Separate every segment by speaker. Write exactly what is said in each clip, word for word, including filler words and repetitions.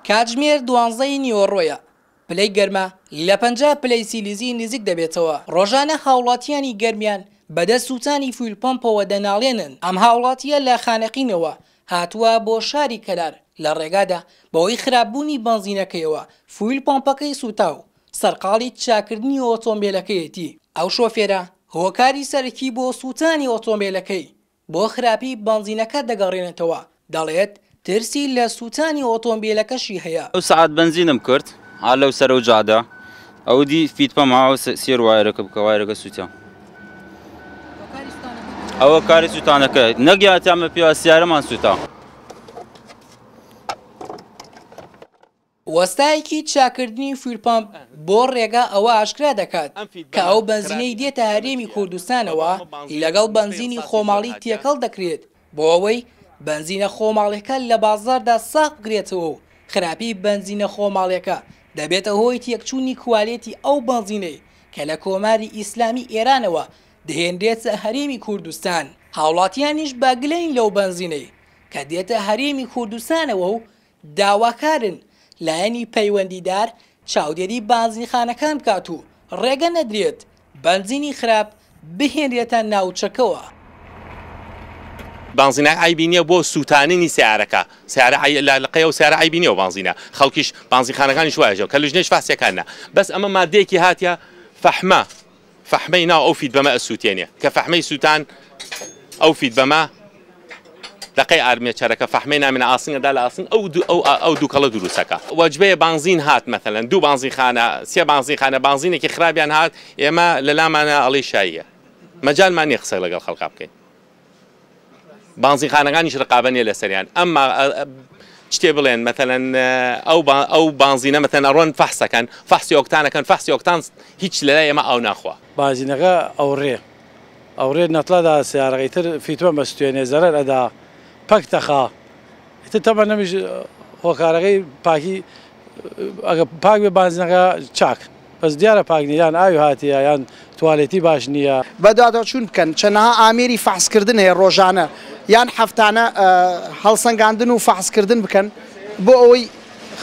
Speaker 1: کاتژمێر دوانزەی نیوەڕۆیە، پلەی گەرما لە پەنجا پلەی سیلیزی نزیک دەبێتەوە. ڕۆژانە هاوڵاتیانی گەرمیان بەدەست سووتانی fuel pump ەوە دەناڵێنن. ئەم هاوڵاتیە لە خانەقینەوە هاتووە بۆ شاری کەلار، لە ڕێگادا بەهۆی خراپبوونی بەنزینەکەیەوە fuel pump ەکەی سووتا و سەرقاڵی چاکردنی ئۆتۆمبیلەکەیەتی. ئەو شۆفێرە هۆکاری سەرەکی بۆ سووتانی ئۆتۆمبیلەکەی بۆ خراپی بەنزینەکە دەگەڕێنێتەوە، دەڵێت ترسی لە سووتانی ئۆتۆمبیلەکەشی هەیە.
Speaker 2: ئەو سەعات بەنزینم کرد ها لەو سەرە و جادە، ئەو دی feed pump ها سێر وایەرەکە بکە، وایەرەکە سووتە. ئەوە کاری سووتانەکە نەگیاتیامە پێوە سیارەمان سووتا.
Speaker 1: وەستایەکی چاکردنی fuel pump بۆ ڕێگا ئەوە ئاشکرا دەکات کە ئەو بەنزینەی دێتە هەرێمی کوردستانەوە لەگەڵ بەنزینی خۆماڵی تێکەڵ دەکرێت بۆ ئەوەی بەنزینە خۆماڵیەکە لە بازاردا ساغ بکرێتەوە و خراپی بەنزینە خۆماڵیەکە دەبێتە هۆی تێکچوونی کوالێتی ئەو بەنزینەی کە لە کۆماری ئیسلامی ئێرانەوە دەهێنرێتە هەرێمی کوردستان. هاوڵاتیانیش بەگلەین لەو بەنزینەی کە دێتە هەرێمی کوردستانەوە و داواکارن لایەنی پەیوەندیدار چاودێری بەنزینخانەکان بکات و ڕێگە نەدرێت بەنزینی خراپ بهێنرێتە ناوچەکەوە.
Speaker 3: بانزینە عیبی نییە بۆ سووتانینی سیارەکە، سیارە لە قەیە و سیارە عیبی نییە و بانزینە خەڵکیش بانزینخانەکانیش وایە کە لژنەش فاسیەکانە، بەس ئەمە مادەیەکی هاتیە فەحمە، فەحمەی ناو ئەو feed pump ە ئەسووتێنێ کە فەحمەی سووتان ئەو feed pump ە لەقەی ئارمێچەرەکە فەحمەی نامێنە ئاسنگەدا لە ئاسنگ ئەو ئەو دووکەڵە دروستەکە. وەجبەیە بانزین هات مەثەلەن دوو بانزینخانە سێ بانزینخانە بانزینێکی خراپیان هات، ئێمە لە لامانە ئەڵێ شاییە، مەجالمان نییە قسە لەگەڵ خەڵکا بکەین. بانزینخانەکانیش ڕقابە نییە لەسەریان، ئەمما شتێ بڵێن مەثەلەن ئەو ئەو بانزینە مەثەلەن ئەڕۆن فەحسەکەن، فەحسی ئۆکتانەکەن، فەحسی ئۆکتان هیچ لەلای ئێمە ئاو ناخوا.
Speaker 4: بانزینەکە ئەوڕێ ئەوڕێ نەتڵەدا سیارەکەی تر feed pump بەستوێنێ زەرەر ئەدا پەک تەخا. ئیتر تەمە نەمیش هۆکارەکەی پاکی ئەگە پاک بێ بانزینەکە چاک، بەس دیارە پاک نییە، یان ئاوی هاتیە یان توالێتی باش نییە.
Speaker 5: بەدواداچوون بکەن چەنەها ئامێری فەحسکردن هەیە ڕۆژانە یان هەفتانە هەڵسەنگاندن و فەحسکردن بکەن بۆ ئەوەی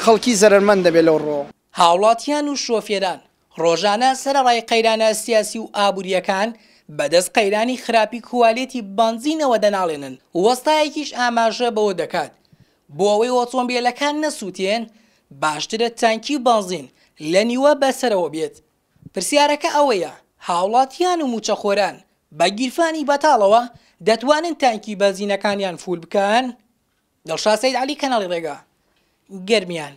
Speaker 5: خەڵکی زەرەرمەند دەبێت لەو ڕۆ.
Speaker 1: هاوڵاتیان و شۆفێران ڕۆژانە سەرەڕای قەیرانە سیاسی و ئابووریەکان بەدەست قەیرانی خراپی کوالێتی بەنزینەوە دەناڵێنن. وەستایەکیش ئاماژە بەوە دەکات بۆ ئەوەی ئۆتۆمبیلەکان نەسووتێن باشترە تانکی بەنزین لە نیوە بەسەرەوە بێت. پرسیارەکە ئەوەیە هاوڵاتیان و موچەخۆران بە گیرفانی بەتاڵەوە دەتوانن تانکی بەنزینەکانیان full بکەن؟ دڵشاد سەید عەلی، کەناڵی ڕێگا، گەرمیان.